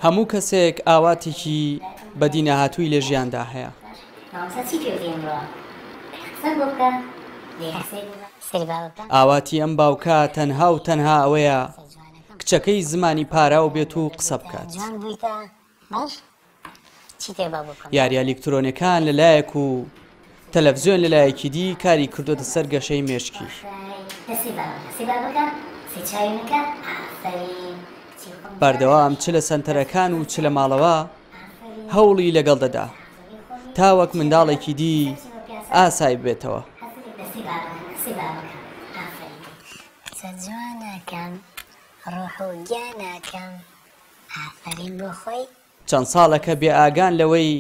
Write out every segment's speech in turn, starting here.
هەموو کەسێک ئاواتێکی بەدینەهاتووی لە ژیاندا هەیە. ئاواتی ئەم باوکە تەنها و تەنها ئەوەیە کچەکەی زمانی پاراو بێت و قسە بکات. یارییە ئەلیکترۆنیەکان لە لایەک و تەلەفزیۆن لە لایەکی دی کاری کردۆتە سەر گەشەی مێشکی. بەردەوام چ لە سەنتەرەکان و چ لە ماڵەوە هەوڵی لەگەڵ دەدا تا وەک منداڵێکی دی ئاسای ببێتەوە. چەند ساڵێکە بێئاگان لەوەی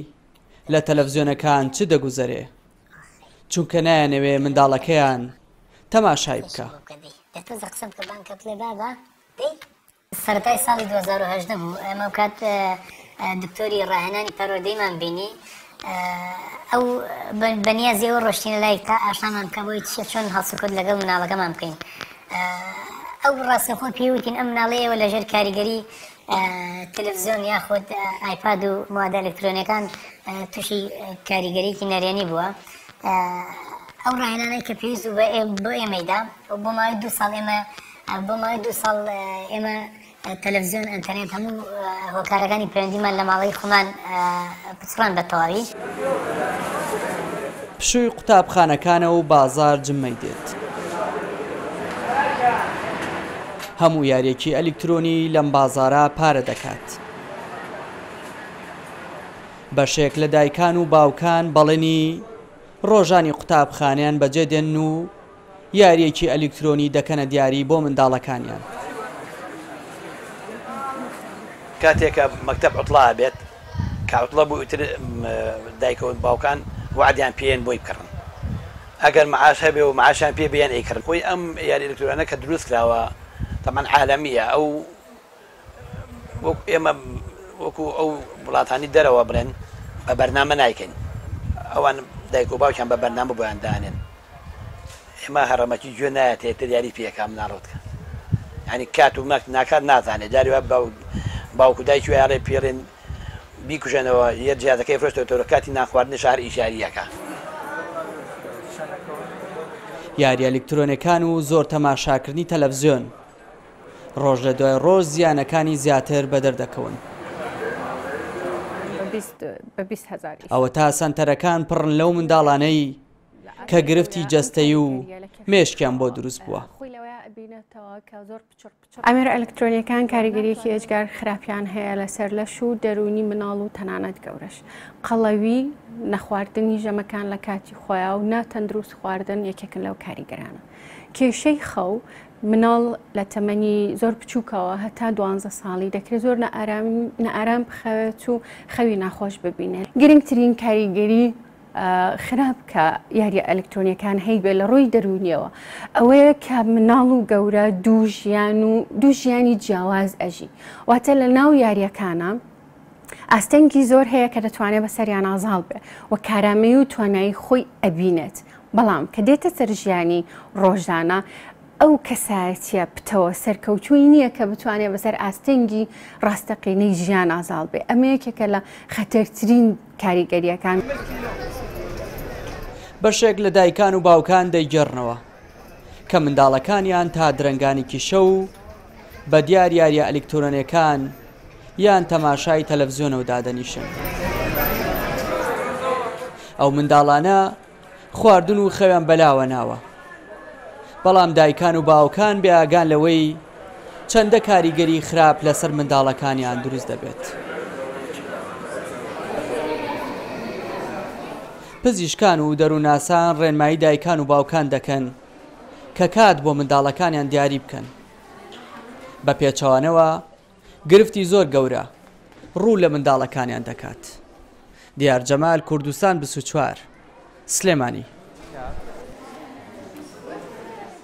لە تەلەفزیۆنەکان چ دەگوزەرێ، چونکە نایانەوێ منداڵەکەیان تەماشای بکا. سەرەتای ساڵی 2018 بوو ئێمە ئەو کات دکتۆری ڕاهێنانی پەروەردەیمان بینی ئەو بەنیازی ئەوە ڕۆشتینە لای تا ئاشنامان بکە بۆی چیە چۆن هەڵسوکەوت لەگەڵ مناڵەکەمان بکەین ئەو ڕاستەخۆ پێی وتین ئەم مناڵەی ئێوە لەژێر کاریگەری تەلەفزیۆن یاخود ئایپاد و موادە ئەلکترۆنیەکان تووشی کاریگەریکی نەرێنی بووە ئەو ڕاهێنانەی کە پێویست بوو بۆ ئێمەیدا بۆ ماوەی دوو ساڵ ئێمە بۆ ماوەی دوو ساڵ ئێمە تەلەفزیۆن، ئەنتەرنێت هەموو هۆکارەکانی پەیوەندیمان لە ماڵەی خۆمان پچڕان بە تەواوی. پشووی قوتابخانەکانە و بازاڕ جمەی دێت. هەموو یارییەکی ئەلیکترۆنی لەم بازاڕە پارە دەکات. بەشێک لە دایکان و باوکان بەڵێنی ڕۆژانی قوتابخانەیان بەجێ دێنن و یارییەکی ئەلیکترۆنی دەکەنە دیاری بۆ منداڵەکانیان. کاتێ کە مەکتەب عوتڵە ئەبێت، کە عوتڵە بوو ئیتر دایک و باوکان وەعدیان پێیەن بۆی بکڕن. ئەگەر معاش هەبێ و معاشیان پێ بێن ئەیکڕن. خۆی ئەم یاری ئەلیکترۆنیانە کە دروست کراوە تەبعەن عالەمییە ئەو وەکو ئێمە وەکو ئەو وڵاتانی دەرەوە بڵێن بە بەرنامە نایکەین ئەوان دایک و باوکیان بە بەرنامە بۆیان دانێن ئێمە هەڕەمەکی گوێ نایەتێ تر یاری پێکا مناڵۆتکە ینی کات و مەک ناکات نازانێت جاری وا باوک و دایکی وایڵێ پێڵێن بیکوژێنەوە یە جیازەکەی فرۆشتەوە تۆ کاتی نانخواردنی شار ئیشاریەکە. یاریە ئەلیکترۆنەکان و زۆر تەماشاکردنی تەلەفزیۆن ڕۆژ لە دوای ڕۆژ زیانەکانی زیاتر بەدەر دەکەون. ئەوەتا سەنتەرەکان پڕن لەو منداڵانەی کە گرفتی جەستەیی و مێشکیان بۆ دروست بووە. ئامێرە ئەلکترۆنیەکان کاریگەریەکی ئێجگار خراپیان هەیە لەسەر لەش و دەروونی مناڵ و تەنانەت گەورەش. قەڵەوی، نەخواردنی ژەمەکان لە کاتی خۆیا و ناتەندروست خواردن یەکێکن لەو کاریگەرانە. کێشەی خەو، مناڵ لە تەمەنی زۆر بچووکەوە هەتا دوانزە ساڵی دەکرێت زۆر نائارام بخەوێت و خەوی ناخۆش ببینێت. گرنگترین کاریگەری خراپ کە یاریە ئەلکترۆنیەکان هەیبێ لە ڕووی دەروونیەوە ئەوەیە کە مناڵ و گەورە دوو ژیان و دوو ژیانی جیاواز ئەژی واتە لە ناو یاریەکانە ئاستەنگی زۆر هەیە کە دەتوانێت بەسەریانا زاڵ بێ و کارامەیی و توانایی خۆی ئەبینێت، بەڵام کە دێتە سەر ژیانی ڕۆژانە ئەو کەسایەتیە پتەوە سەرکەوتووی نییە کە بتوانێت بەسەر ئاستەنگی ڕاستەقینەی ژیانا زاڵ بێ، ئەمە یەکێکە لە خەتەرترین کاریگەرییەکان. بەشێک لە دایکان و باوکان دەیگێڕنەوە کە منداڵەکانیان تا درەنگانێکی شەو بە دیار یارییە ئەلیکترۆنیەکان یان تەماشای تەلەفزیۆنەوە دادەنیشن. ئەو منداڵانە خواردن و خەویان بەلاوە ناوە. بەڵام دایکان و باوکان بێ ئاگان لەوەی چەندە کاریگەری خراپ لەسەر منداڵەکانیان دروست دەبێت. پزیشکان و دەروونناسان ڕێنمایی دایکان و باوکان دەکەن کە کات بۆ منداڵەکانیان دیاری بکەن. بە پێچەوانەوە گرفتی زۆر گەورە ڕوو لە منداڵەکانیان دەکات. دیار جەمال، کوردستان 24، سلێمانی.